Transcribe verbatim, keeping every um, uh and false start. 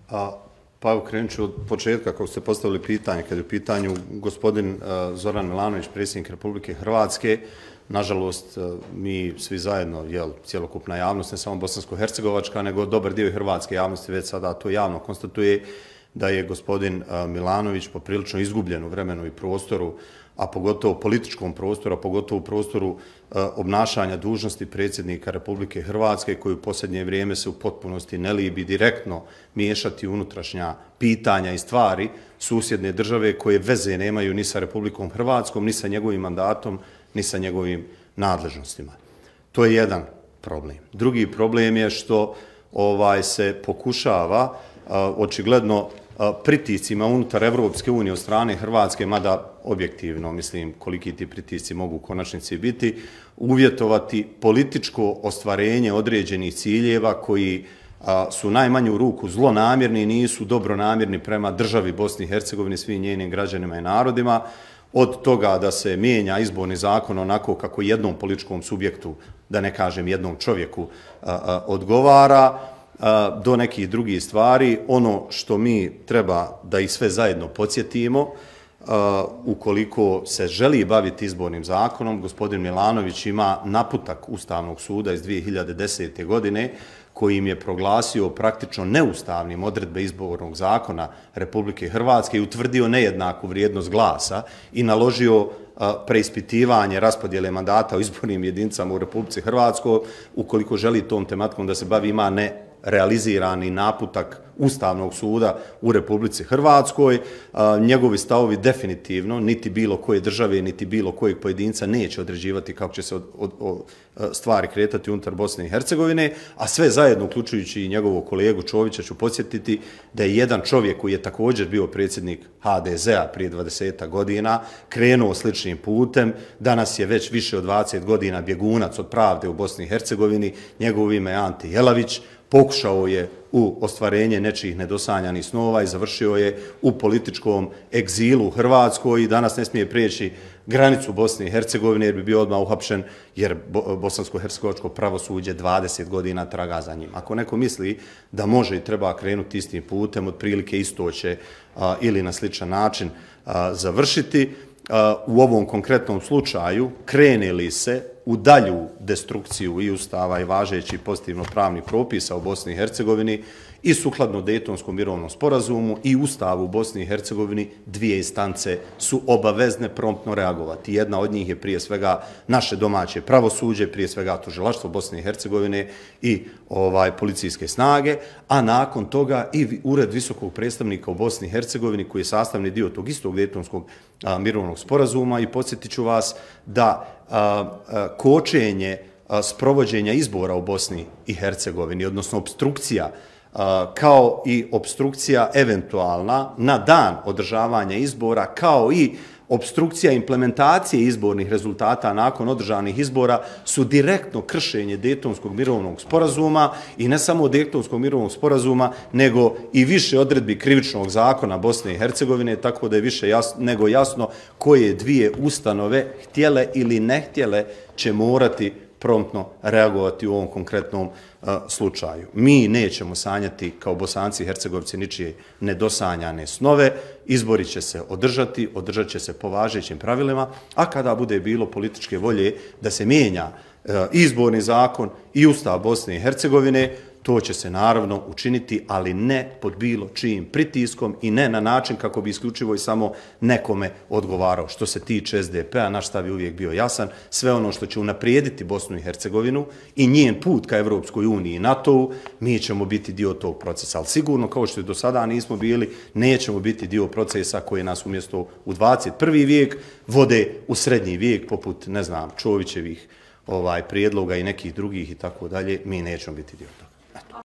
A, pa evo krenut ću od početka kako ste postavili pitanje, kad je u pitanju gospodin Zoran Milanović, predsjednik Republike Hrvatske. Nažalost, mi svi zajedno, jel, cjelokupna javnost, ne samo bosansko-hercegovačka, nego dobar dio hrvatske javnosti već sada to javno konstatuje da je gospodin Milanović poprilično izgubljen u vremenu i prostoru, a pogotovo političkom prostoru, a pogotovo u prostoru obnašanja dužnosti predsjednika Republike Hrvatske, koji u posljednje vrijeme se u potpunosti ne libi direktno miješati unutrašnja pitanja i stvari susjedne države koje veze nemaju ni sa Republikom Hrvatskom, ni sa njegovim mandatom, ni sa njegovim nadležnostima. To je jedan problem. Drugi problem je što ovaj se pokušava očigledno pritiscima unutar Evropske unije od strane Hrvatske, mada objektivno, mislim, koliki ti pritisci mogu u konačnici biti, uvjetovati političko ostvarenje određenih ciljeva koji su najmanju ruku zlonamjerni i nisu dobronamjerni prema državi Bosni i Hercegovini, svim njenim građanima i narodima, od toga da se mijenja izborni zakon onako kako jednom političkom subjektu, da ne kažem jednom čovjeku, odgovara, do nekih drugih stvari. Ono što mi treba da i sve zajedno podsjetimo, ukoliko se želi baviti izbornim zakonom, gospodin Milanović ima naputak Ustavnog suda iz dvije hiljade desete. godine kojim je proglasio praktično neustavnim odredbe izbornog zakona Republike Hrvatske i utvrdio nejednaku vrijednost glasa i naložio preispitivanje raspodjele mandata u izbornim jedinicama u Republici Hrvatskoj. Ukoliko želi tom tematikom da se bavi, ima ne realizirani naputak Ustavnog suda u Republici Hrvatskoj. Njegovi stavovi definitivno niti bilo koje države, niti bilo kojeg pojedinca neće određivati kako će se od, od, od stvari kretati unutar Bosne i Hercegovine, a sve zajedno, uključujući i njegovog kolegu Čovića, ću podsjetiti da je jedan čovjek koji je također bio predsjednik ha de zea prije dvadesetak godina krenuo sličnim putem. Danas je već više od dvadeset godina bjegunac od pravde u Bosni i Hercegovini. Njegovo ime je Ante Jelavić. Pokušao je u ostvarenje nečijih nedosanjanih snova i završio je u političkom egzilu u Hrvatskoj i danas ne smije prijeći granicu Bosne i Hercegovine jer bi bio odmah uhapšen, jer bosansko-hercegovačko pravosuđe dvadeset godina traga za njim. Ako neko misli da može i treba krenuti istim putem, otprilike isto će a, ili na sličan način a, završiti. A, u ovom konkretnom slučaju krene li se u dalju destrukciju i ustava i važećih pozitivno pravnih propisa u Bosni i Hercegovini i sukladno Dejtonskom mirovnom sporazumu i ustavu u Bosni i Hercegovini, dvije instance su obavezne promptno reagovati. Jedna od njih je prije svega naše domaće pravosuđe, prije svega tužilaštvo Bosne i Hercegovine i ovaj policijske snage, a nakon toga i Ured visokog predstavnika u Bosni i Hercegovini koji je sastavni dio tog istog Dejtonskog mirovnog sporazuma. I podsjetit ću vas da a, a, kočenje a, sprovođenja izbora u Bosni i Hercegovini, odnosno obstrukcija, kao i obstrukcija eventualna na dan održavanja izbora, kao i obstrukcija implementacije izbornih rezultata nakon održanih izbora su direktno kršenje Dejtonskog mirovnog sporazuma i ne samo Dejtonskog mirovnog sporazuma, nego i više odredbi krivičnog zakona Bosne i Hercegovine, tako da je više jasno, nego jasno koje dvije ustanove, htjele ili ne htjele, će morati promptno reagovati u ovom konkretnom uh, slučaju. Mi nećemo sanjati kao Bosanci i Hercegovci ničije nedosanjane snove. Izbori će se održati, održat će se po važećim pravilima, a kada bude bilo političke volje da se mijenja uh, izborni zakon i Ustav Bosne i Hercegovine, to će se naravno učiniti, ali ne pod bilo čijim pritiskom i ne na način kako bi isključivo i samo nekome odgovarao. Što se tiče es de pe-a, naš stav je uvijek bio jasan. Sve ono što će unaprijediti Bosnu i Hercegovinu i njen put ka Evropskoj uniji i NATO-u, mi ćemo biti dio tog procesa. Ali sigurno, kao što je do sada nismo bili, nećemo biti dio procesa koji nas umjesto u dvadeset prvi vijek vode u srednji vijek, poput, ne znam, Čovićevih ovaj, prijedloga i nekih drugih i tako dalje. Mi nećemo biti dio toga.